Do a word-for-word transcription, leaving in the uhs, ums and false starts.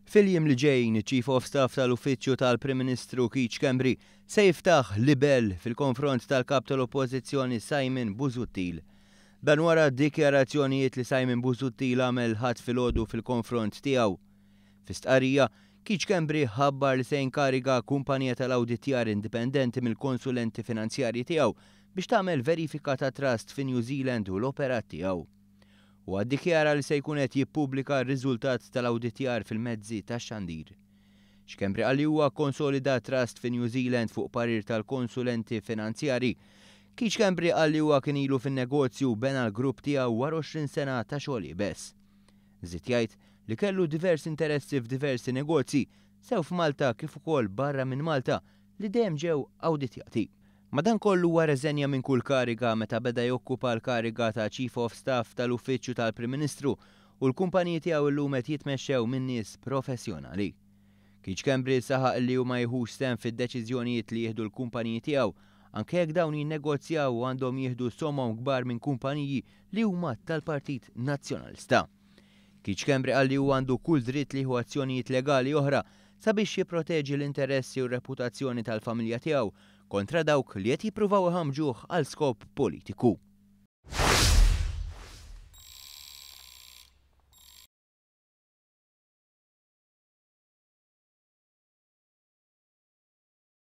Fil-jiem li ġejjin, Chief of Staff tal-Uffiċċju tal-Prim Ministru Keith Schembri se jiftaħ libel fil-konfront tal-kap tal-Oppożizzjoni Simon Busuttil. Dan wara dikjarazzjonijiet li Simon Busuttil għamel Ħadd filgħodu fil-konfront tiegħu. Fi stqarrija, Keith Schembri ħabbar li se jinkariga kumpanija tal-awditjar indipendenti mill-konsulenti finanzjarji tiegħu biex tagħmel verifika ta' trust fi New Zealand u l-operat tiegħu. U ddikjara li se jkun qed jippubblika r-riżultat tal-awditjar fil-mezzi tax-xandir. Schembri qal li huwa konsolida trust fi New Zealand fuq parir tal-konsulenti finanzjari. Keith Schembri qal li huwa kien ilu fin-negozju bena l-grupp tiegħu wara għoxrin sena ta' xogħol iebes. Żied jgħid li kellu diversi interessi f'diversi negozji sew f'Malta kif ukoll barra minn Malta li dejjem ġew awditjati. Madankollu huwa rreżenja minn kull kariga meta beda jokkupa l-kariga ta' Chief of Staff tal-Uffiċċju tal-Prim Ministru u l-kumpaniji tiegħu llum qed jitmexxew minn nies professjonali. Keith Schembri saħaq li hu ma jieħux sehem fid-deċiżjonijiet li jieħdu l-kumpaniji tiegħu anke jekk dawn jinnegozjaw u għandhom jieħdu somom kbar minn kumpaniji li huma tal-Partit Nazzjonalista. Keith Schembri qal li huwa għandu kull dritt li jieħu azzjonijiet legali oħra sabiex jipproteġi l-interessi u r-reputazzjoni tal-familja tiegħu kontra dawk li qed jippruvaw iħamġuh għal skop politiku.